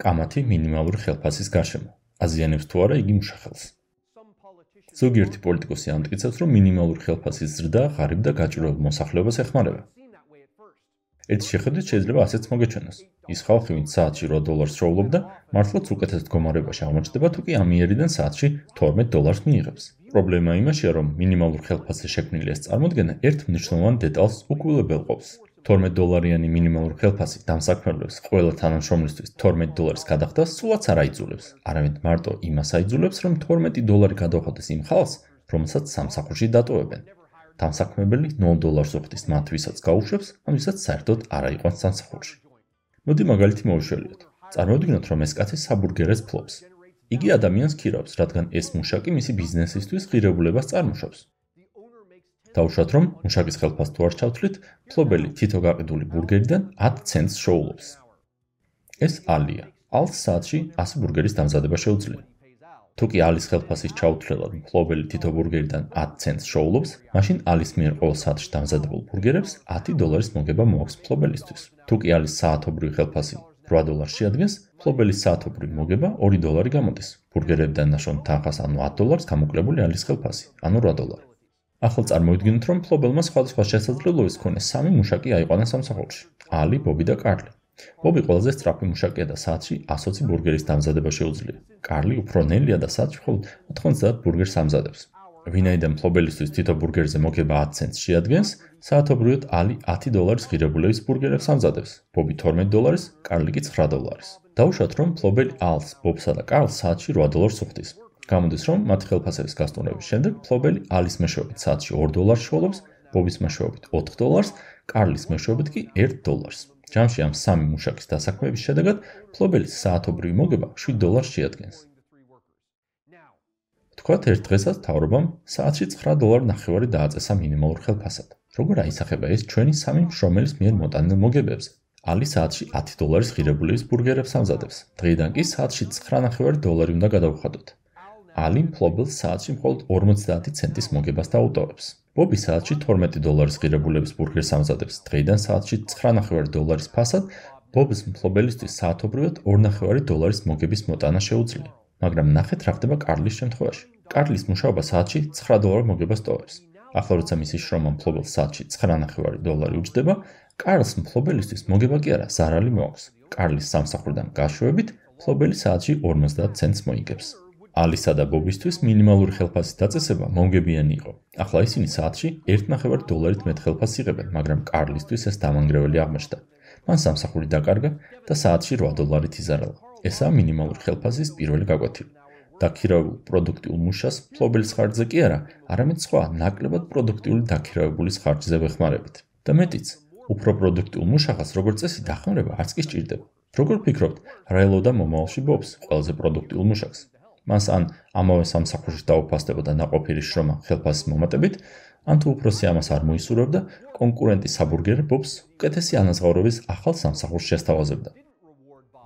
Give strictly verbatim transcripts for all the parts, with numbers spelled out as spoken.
კამათი მინიმალური ხელფასის გარშემო. აზიანებს თუ არა იგი მუშახელს. ზოგიერთი პოლიტიკოსი ამტკიცებს, რომ მინიმალური ხელფასის ზრდა ღარიბ და გაჭირვებულ მოსახლეობას ეხმარება. ერთი შეხედვით შეიძლება ასეც მოგეჩვენოს. ის ხალხი, ვინც საათში რვა დოლარს შოულობდა, მართლაც უკეთეს მდგომარეობაში აღმოჩნდება, თუ კი ამიერიდან საათში თორმეტ დოლარს მიიღებს. პრობლემა იმაშია, რომ მინიმალურ ხელფასზე შექმნილი ეს წარმოდგენა ერთ მნიშვნელოვან დეტალს უკულებელყოფს. თორმეტ დოლარიანი მინიმალური ხელფასი დამსაქმებელს ყველა თანამშრომლისთვის თორმეტ დოლარის გადახდას სულაც არ აიძულებს, არამედ მარტო იმას აიძულებს, რომ თორმეტი დოლარი გადაუხადეს იმ ხალხს, რომელსაც სამსახურში დატოვებენ. დამსაქმებელი ნულ დოლარს უხდის მათ, ვისაც გაუშვებს, ან ვისაც საერთოდ არ აიყვანს სამსახურში. მოდი მაგალითი მოვიშველიოთ. წარმოვიდგინოთ, რომ ეს კაცი საბურგერეს ფლობს. იგი ადამიანს ქირავს, რადგან ეს მუშაკი მისი ბიზნესისთვის ღირებულებას წარმოშობს. დავუშვათ, რომ მუშაკის ხელფასს თუ არ ჩავთვლით, მფლობელი თითო გაყიდული ბურგერიდან ათ ცენტს შოულობს. ეს ალია. ალს საათში ასი ბურგერის დამზადება შეუძლია. თუ კი ალის ხელფასის ჩაუთვლელად მფლობელი თითო ბურგერიდან ათ ცენტს შოულობს, მაშინ ალის მიერ ყოველ საათში დამზადებულ ბურგერებს ათი დოლარის მოგება მოაქვს მფლობელისთვის. თუ კი ალის საათობრივი ხელფასი რვა დოლარს შეადგენს, მფლობელის საათობრივი მოგება ორი დოლარი გამოდის. ბურგერებიდან ნაშოვნ თანხას, ანუ ათ დოლარს გამოკლებული ალის ხელფასი, ანუ რვა დოლარი. ახლა წარმოვიდგინოთ, რომ მფლობელმა სხვადასხვა შესაძლებლობის მქონე სამი მუშაკი აიყვანა სამსახურში. ალი, ბობი და კარლი. ბობი ყველაზე სწრაფი მუშაკია და საათში ასოცი ბურგერის დამზადება შეუძლია. კარლი უფრო ნელია და საათში მხოლოდ ოთხმოცდაათ ბურგერს ამზადებს. ვინაიდან მფლობელისთვის თითო ბურგერზე მოგება ათ ცენტს შეადგენს, საათობრივად ალი ათი დოლარის ღირებულების ბურგერებს ამზადებს. ბობი თორმეტ დოლარის, კარლი კი ცხრა დოლარის. დავუშვათ, რომ მფლობელი ალს, ბობსა და კარლს საათში რვა დოლარს უხდის. გამოდის, რომ მათი ხელფასების გასტუმრების შემდეგ მფლობელი ალის მეშვეობით საათში ორ დოლარს შოულობს, ბობის მეშვეობით ოთხ დოლარს, კარლის მეშვეობით კი ერთ დოლარს. ჯამში ამ სამი მუშაკის დასაქმების შედეგად მფლობელის საათობრივი მოგება შვიდ დოლარს შეადგენს. ვთქვათ, ერთ დღესაც მთავრობამ საათში ცხრა დოლარი ნახევარი დააწესა მინიმალურ ხელფასად. როგორ აისახება ეს ჩვენი სამი მშრომელის მიერ მოტანილ მოგებებზე? ალი საათში ათი დოლარის ღირებულების ბურგერებს ამზადებს. დღეიდან კი საათში ცხრა ნახევარი დოლარი უნდა გადავხადოთ. ალი მფლობელს საათში მხოლოდ ორმოცდაათი ცენტის მოგებას დაუტოვებს. ბობი საათში თორმეტი დოლარის ღირებულების ბურგერს ამზადებს. დღეიდან საათში ცხრა ნახევარი დოლარის ფასად ბობის მფლობელისთვის საათობრივად ორ ნახევარი დოლარის მოგების მოტანა შეუძლია. მაგრამ ნახეთ რა ხდება კარლის შემთხვევაში. კარლის მუშაობა საათში ცხრა დოლარ მოგებას ტოვებს. ახლა როცა მისი შრომა მფლობელს საათში ცხრა ნახევარი დოლარი უჯდება, კარლს მფლობელისთვის მოგება კი არა, ზარალი მოაქვს. კარლის სამსახურიდან გაშვებით, მფლობელი საათში ორმოცდაათ ცენტს მოიგებს. ალისა და ბობისთვის მინიმალური ხელფასის დაწესება მომგებიანი იყო. ახლა ისინი საათში ერთ ნახევარი დოლარით მეტ ხელფასს იღებენ, მაგრამ კარლისთვის ეს დამანგრეველი აღმოჩნდა. მან სამსახური დაკარგა და საათში რვა დოლარით იზარალა. ესაა მინიმალური ხელფასის პირველი გაკვეთილი. დაქირავებულ პროდუქტიულ მუშას მფლობელის ხარჯზე კი არა, არამედ სხვა ნაკლებად პროდუქტიული დაქირავებულის ხარჯზე ვეხმარებით. და მეტიც, უფრო პროდუქტიულ მუშახას როგორც წესი დახმარება არც კი სჭირდება. როგორ ფიქრობთ, რა ელოდა მომავალში ბობს ყველაზე პროდუქტიულ მუშაკს? მას ან ამავე სამსახურში დაუფასდება და ნაყოფიერი შრომა ხელფასის მომატებით, ან თუ უფროსი ამას არ მოისურვებდა, კონკურენტი საბურგერ ბობს უკეთესი ანაზღაურების ახალ სამსახურს შესთავაზებდა.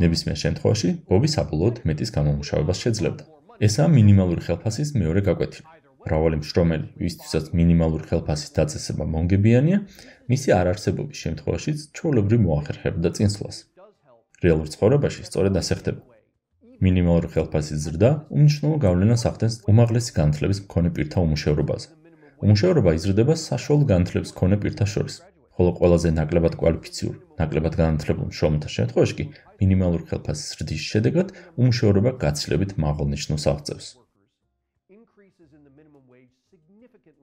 ნებისმიერ შემთხვევაში, ბობი საბოლოოდ მეტის გამომუშავებას შეძლებდა. ესაა მინიმალური ხელფასის მეორე გაკვეთილი. მრავალი მშრომელი, ვისთვისაც მინიმალური ხელფასის დაწესება მომგებიანია, მისი არარსებობის შემთხვევაშიც ჩვეულებრივ მოახერხებდა წინსვლას. რეალურ ცხოვრებაში სწორედ ასე ხდება. მინიმალური ხელფასის ზრდა უმნიშვნელო გავლენას ახდენს უმაღლესი განათლების მქონე პირთა უმუშევრობაზე. უმუშევრობა იზრდება საშუალო განათლების მქონე პირთა შორის, ხოლო ყველაზე ნაკლებად კვალიფიციურ, ნაკლებად განათლებულ მშრომელთა შემთხვევაში კი მინიმალური ხელფასის ზრდის შედეგად უმუშევრობა გაცილებით მაღალ ნიშნულს აღწევს.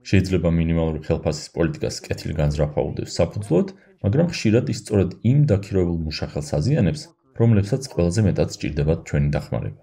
შეიძლება მინიმალური ხელფასის პოლიტიკას კეთილი განზრახვა უდევს საფუძვლოდ, მაგრამ ხშირად ის სწორედ იმ დაქირავებულ მუშახელს აზიანებს, რომლებსაც ყველაზე მეტად სჭირდებათ ჩვენი დახმარება.